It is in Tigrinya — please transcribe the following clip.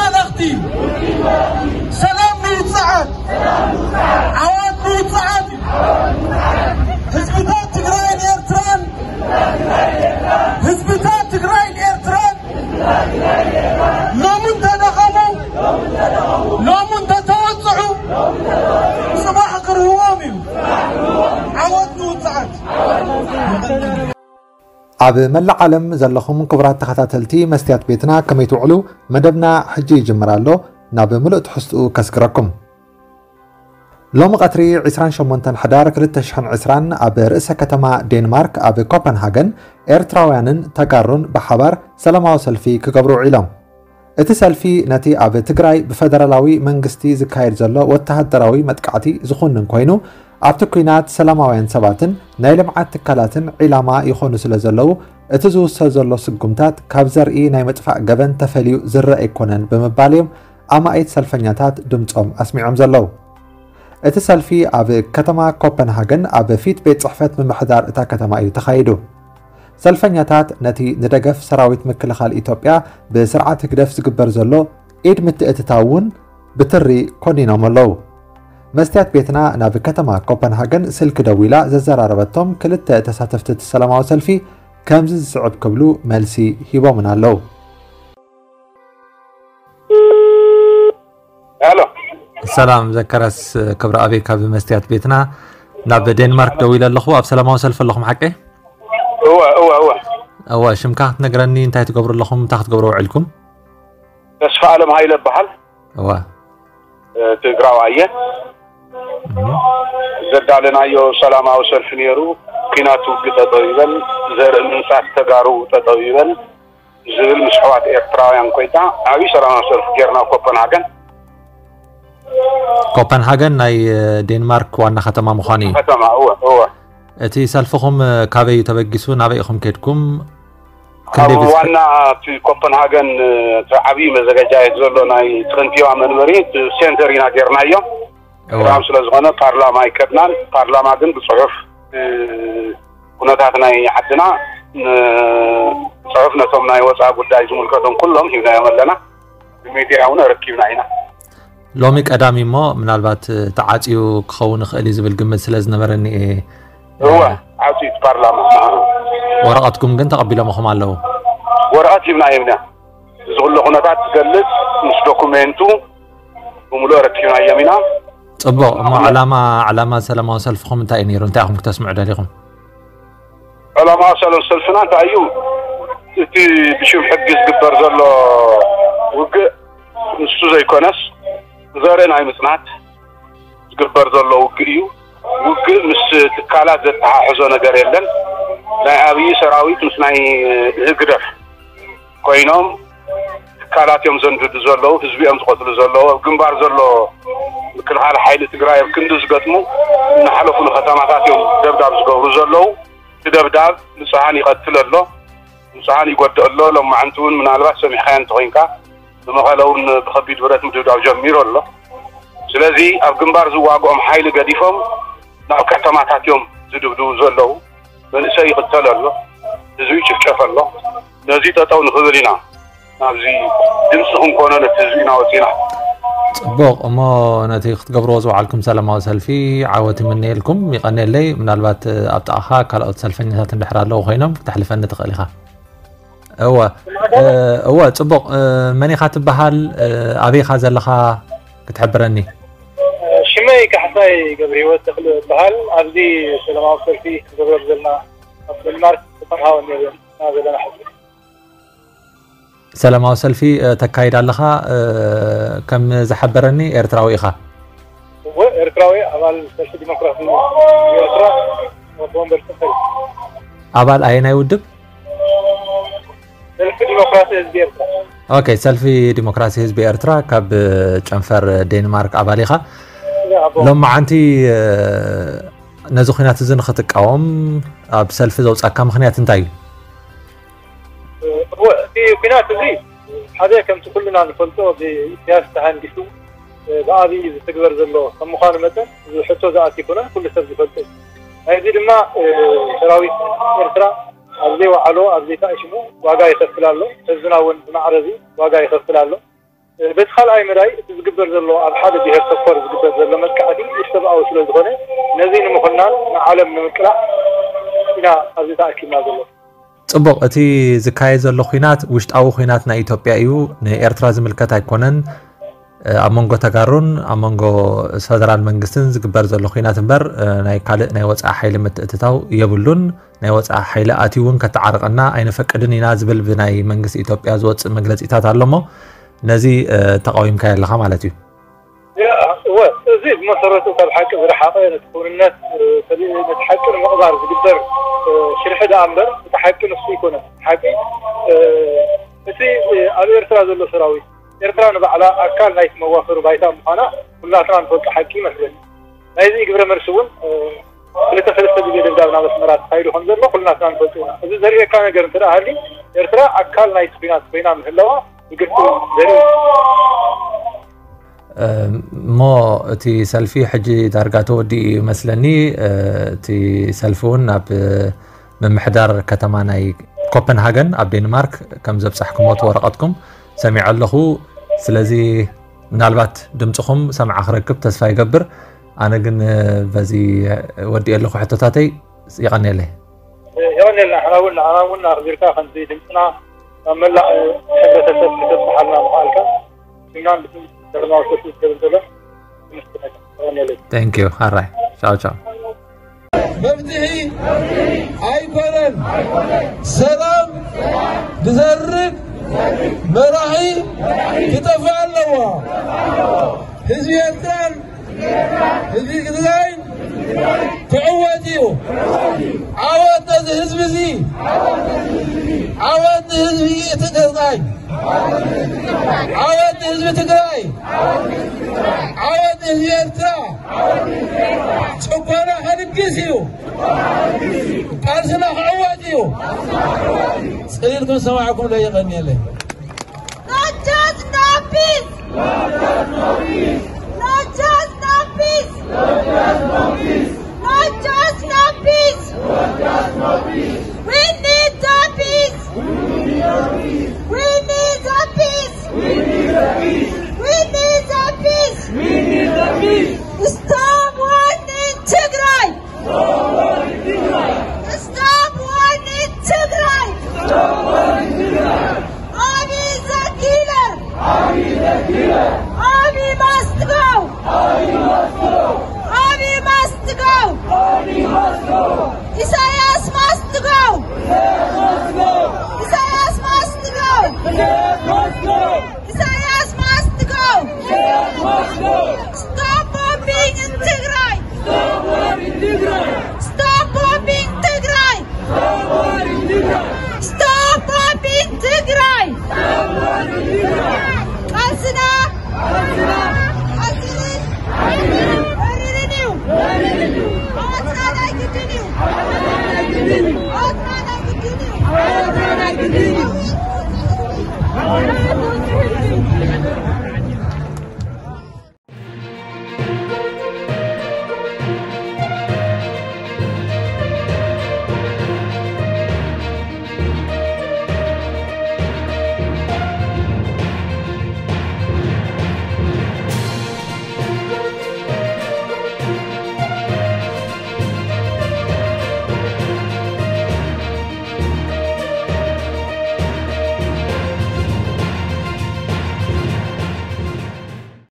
መልእኽቲ ሰላም ንውፅዓት፣ ዓወት ንውፅዓት እዩ። ህዝብታት ትግራይን ኤርትራን፣ ህዝብታት ትግራይን ኤርትራን ሎሚ እንተደኸሙ፣ ሎሚ እንተተወፅዑ፣ ፅባሕ ክርህዎም እዩ። ዓወት ንውፅዓት። ኣብ መላእ ዓለም ዘለኹም ክቡራት ተኸታተልቲ መስትያት ቤትና ከመይ ትውዕሉ? መደብና ሕጂ ይጅምር ኣሎ። ናብ ምሉእ ትሕዝትኡ ከስግረኩም። ሎሚ ቀትሪ ዕስራን ሸሞንተን ሕዳር ክልተ ሽሕን ዕስራን ኣብ ርእሰ ከተማ ዴንማርክ ኣብ ኮፐንሃገን ኤርትራውያንን ተጋሩን ብሓባር ሰላማዊ ሰልፊ ክገብሩ ውዒሎም። እቲ ሰልፊ ነቲ ኣብ ትግራይ ብፈደራላዊ መንግስቲ ዝካየድ ዘሎ ወተሃደራዊ መጥቃዕቲ ዝኹንን ኮይኑ ኣብቲ ኲናት ሰላማውያን ሰባትን ናይ ልምዓት ትካላትን ዒላማ ይኾኑ ስለ ዘለዉ እቲ ዝውሰድ ዘሎ ስጉምታት ካብ ዘርኢ ናይ ምጥፋእ ገበን ተፈልዩ ዝረአ ኣይኮነን ብምባል እዮም ኣማኢት ሰልፈኛታት ድምፆም ኣስሚዖም ዘለዉ። እቲ ሰልፊ ኣብ ከተማ ኮፐንሃገን ኣብ ፊት ቤት ፅሕፈት ምምሕዳር እታ ከተማ እዩ ተኻይዱ። ሰልፈኛታት ነቲ ንደገፍ ሰራዊት ምክልኻል ኢትዮጵያ ብስርዓት ህግደፍ ዝግበር ዘሎ ኢድ ምትእትታው እውን ብትሪ ኮኒኖም ኣለዉ። መስትያት ቤትና ናብ ከተማ ኮፐንሃገን ስልኪ ደዊላ ዘዘራረበቶም ክልተ ተሳተፍቲ እቲ ሰላማዊ ሰልፊ ከምዚ ዝስዕብ ክብሉ መልሲ ሂቦምና ኣለዉ። ሄሎ። ሰላም ዘከረስ ክብረ ኣበይ ካብ መስትያት ቤትና ናብ ዴንማርክ ደዊለ ኣለኹ። ኣብ ሰላማዊ ሰልፊ ኣለኹም ሓቀይ? እወ እወ እወ። እወ፣ ሽምካ ክትነግረኒ፣ እንታይ ትገብሩ ኣለኹም፣ እንታይ ክትገብሩ ውዒልኩም? ተስፋ ኣለም ሃይለ እበሃል። እወ። ትግራዋይ እየ። ዘዳለናዮ ሰላማዊ ሰልፊ ነይሩ። ኲናት ውግእ ጠጠው ይበል፣ ዘርኢ ምንጻት ተጋሩ ጠጠው ይበል ዝብል ምስ ኣሕዋት ኤርትራውያን ኮይና ዓብዪ ሰላማዊ ሰልፊ ጌርና ኣብ ኮፐንሃገን። ኮፐንሃገን ናይ ዴንማርክ ዋና ከተማ ምዃኑ እዩ። ከተማ እወ እወ። እቲ ሰልፍኹም ካበይ እዩ ተበጊሱ? ናበይ ኢኹም ከድኩም? ክንደይ ኣብ ብዝሒ? ዋና እቲ ኮፐንሃገን እቲ ዓብዪ መዘጋጃየት ዘሎ ናይ እቲ ከንቲባ መንበሪ እቲ ሴንተር ኢና ጌርናዮ። እወ። ቀዳም ስለ ዝኾነ ፓርላማ ኣይከድናን። ፓርላማ ግን ብፅሑፍ ኩነታት ናይ ዓድና ንፅሑፍ ነቶም ናይ ወፃኢ ጉዳይ ዝምልከቶም ኩሎም ሂብናዮም ኣለና። ብሚድያ እውን ኣረኪብና ኢና። ሎሚ ቀዳሚ እሞ ምናልባት ተዓፅዩ ክኸውን ይኽእል እዩ ዝብል ግምት ስለ ዝነበረኒ እየ። እወ ዓፅዩ እቲ ፓርላማ። ወረቐትኩም ግን ተቐቢሎምኹም ኣለዉ? ወረቐት ሂብናዮም ኢና። እዚ ኩሎ ኩነታት ዝገልፅ ምስ ዶኩሜንቱ ብምሉእ ኣረኪብናዮም ኢና። ፅቡቕ እሞ ዕላማ ዕላማ ሰላማዊ ሰልፍኹም እንታይ እዩ ነይሩ? እንታይ ኢኹም ክተስምዑ ደሊኹም? ዕላማ ሰላም ሰልፍና እንታይ እዩ? እቲ ብሽም ሕጊ ዝግበር ዘሎ ውግእ ንሱ ዘይኮነስ ዘርኢ ናይ ምፅናት ዝግበር ዘሎ ውግእ እዩ። ውግእ ምስ ትካላት ዘተሓሕዞ ነገር የለን። ናይ ኣብዪ ሰራዊት ምስ ናይ ህግደፍ ኮይኖም ትካላት እዮም ዘንድዱ ዘለዉ፣ ህዝቢ እዮም ዝቐትሉ ዘለዉ። ኣብ ግንባር ዘሎ ምክልኻል ሓይሊ ትግራይ ኣብ ክንዲ ዝገጥሙ እናሓለፉ ንከተማታት እዮም ደብዳብ ዝገብሩ ዘለዉ። እቲ ደብዳብ ንፁሃን ይቐትል ኣሎ፣ ንፁሃን ይጎድእ ኣሎ። ሎማዓንቲ እውን ምናልባት ሰሚዕካዮ እንተኾይንካ ብመቐለ እውን ብኸቢድ ብረት ምድብዳብ ጀሚሩ ኣሎ። ስለዚ ኣብ ግንባር ዝዋግኦም ሓይሊ ገዲፎም ናብ ከተማታት እዮም ዝድብድቡ ዘለዉ። መንእሰይ ይቕተል ኣሎ፣ ህዝቢ ይጭፍጨፍ ኣሎ። ነዚ ጠጠው ንኽብል ኢና ናብዚ ድምፂ ክንኮኖ ነቲ ህዝቢ ኢና ወፂና። ፅቡቕ እሞ ነቲ ክትገብርዎ ዝወዓልኩም ሰላማዊ ሰልፊ ዓወት ይምነየልኩም። ይቐንየለይ። ምናልባት ኣብ ጥቓኻ ካልኦት ሰልፈኛታት እንድሕር ኣለዉ ኮይኖም ክተሕልፈኒ ትኽእል ኢኻ። እወ እወ። ፅቡቕ። መን ኢኻ ትበሃል? ኣበይ ኢኻ ዘለኻ ክትሕብረኒ? ሽመይ ካሕሳይ ገብረ ህይወት ተኽለ እበሃል። ኣብዚ ሰላማዊ ሰልፊ ክንገብረሉ ዘለና ኣብ ዴንማርክ ኮፐንሃገን ኢና ዘለና ሕዚ። ሰላማዊ ሰልፊ ተካይድ ኣለኻ። ከም ዝሓበረኒ ኤርትራዊ ኢኻ? እወ ኤርትራዊ፣ ኣባል ሰልፊ ዲሞክራሲ ኤርትራ፣ ኣቦ ወንበር ጽሕፈት። ኣባል ኣየናይ ውድብ? ሰልፊ ዲሞክራሲ ህዝቢ ኤርትራ። ኦኬ፣ ሰልፊ ዲሞክራሲ ህዝቢ ኤርትራ ካብ ጨንፈር ዴንማርክ ኣባል ኢኻ። ሎማዓንቲ ነዚ ኹናት እዚ ንኽትቃወም ኣብ ሰልፊ ዘውጻካ ምኽንያት እንታይ እዩ? እወ፣ እቲ ኲናት እዚ ሓደ ከምቲ ኩልና ንፈልጦ ብኢሳያስ ተሃንዲሱ ብኣብይ ዝትግበር ዘሎ ከም ምዃኑ መጠን እዚ ሕቶ ዝኣቲ ኣይኮነን፣ ኩሉ ሰብ ዝፈልጦ እዩ። ናይዚ ድማ ሰራዊት ኤርትራ ኣብ ዘይወዓሎ ኣብ ዘይተኣሽሙ ዋጋ ይኸፍል ኣሎ። ህዝብና እውን ብማዕረ እዚ ዋጋ ይኸፍል ኣሎ። በቲ ካልኣይ መዳይ እቲ ዝግበር ዘሎ ኣብ ሓደ ብሄር ተኮር ዝግበር ዘሎ መጥቃዕቲ ኢሰብኣዊ ስለ ዝኾነ ነዚ ንምኹናን ንዓለም ንምቅላዕ ኢና ኣብዚ ተኣኪብና ዘሎ። ጽቡቕ፣ እቲ ዝካየድ ዘሎ ኲናት ውሽጣዊ ኲናት ናይ ኢትዮጵያ እዩ፣ ንኤርትራ ዝምልከት ኣይኮነን። ኣብ መንጎ ተጋሩን ኣብ መንጎ ፈደራል መንግስትን ዝግበር ዘሎ ኲናት እምበር ናይ ካልእ ናይ ወጻኢ ሓይሊ ምትእትታው የብሉን። ናይ ወጻኢ ሓይሊ ኣትዩ እውን ከተዓርቀና ኣይነፈቅድን ኢና ዝብል ብናይ መንግስቲ ኢትዮጵያ ዝወጽእ መግለጺታት ኣሎ እሞ ነዚ ተቃዊምካዮ ኣለኻ ማለት እዩ። እወ፣ እዚ ብመሰረቱ ካብ ሓቂ ዝረሓቐ፣ ነቲ ክውንነት፣ ነቲ ሓቂ ንምቕባር ዝግበር ሽርሒ ደኣ እምበር እቲ ሓቂ ንሱ ኣይኮነን። ሓቂ እቲ ኣብ ኤርትራ ዘሎ ሰራዊት፣ ኤርትራ ንባዕላ ኣካል ናይቲ መዋፈሪ ባይታ ምዃና ኩላትና ንፈልጦ ሓቂ ይመስለኒ። ናይዚ ግብረ መልሲ እውን ክልተ ሰለስተ ግዜ ደብዳብ ናብ ኣስመራ ተኻይዱ ከም ዘሎ ኩላትና ንፈልጦ ኢና። እዚ ዘርእየካ ነገር እንተ ደኣ ሃልዩ፣ ኤርትራ ኣካል ናይቲ ኲናት ኮይና ምህላዋ ብግልጺ ዘርኢ። እሞ እቲ ሰልፊ ሕጂ ዳርጋ ተወዲኡ እዩ መስለኒ። እቲ ሰልፊ እውን ናብ ምምሕዳር ከተማ ናይ ኮፐንሃገን ኣብ ዴንማርክ ከም ዘብጻሕኩሞ እቲ ወረቐትኩም ሰሚዐ ኣለኹ። ስለዚ ምናልባት ድምፅኹም ሰምዓ ክረክብ ተስፋ ይገብር። ኣነ ግን በዚ ወዲእ ኣለኹ ሕቶታተይ። ይቐንየለይ። የቐንየልና። ንሕና እውን ንዓና እውን ኣኽቢርካ ከምዚ ድምፅና ናብ መላእ ሕብረተሰብ ክተብፅሓልና ምኽኣልካ ስምናን ብስም ሰለማዊ ሰልፊ ዝገብር ዘሎ። Thank you. ኣራይ ቻው ቻው። መፍትሒ ኣይኮነን። ሰላም ብዘርግ መራሒ ክጠፍእ ኣለዎ። ህዝቢ ኤርትራን ህዝቢ ትግራይን ክዕወት እዩ። ዓወት ነዚ ህዝቢ እዚ። ዓወት ንህዝቢ እቲ ትግራይ። ዓወት ንህዝቢ ትግራይ። ዓወት ንህዝቢ ኤርትራ። ጭቆና ከንግስ እዩ። ቃልስና ክዕወት እዩ። ጽሊልኩም ዝሰማዕኩም ለየቐንየለይ። Not just no peace! Not just no peace! Not just no peace! We need the peace! We need the peace! We need the peace! Stop war in Tigray! Stop war in Tigray! Abiy is a killer! Abiy must go! Abiy must go! Isaias must go!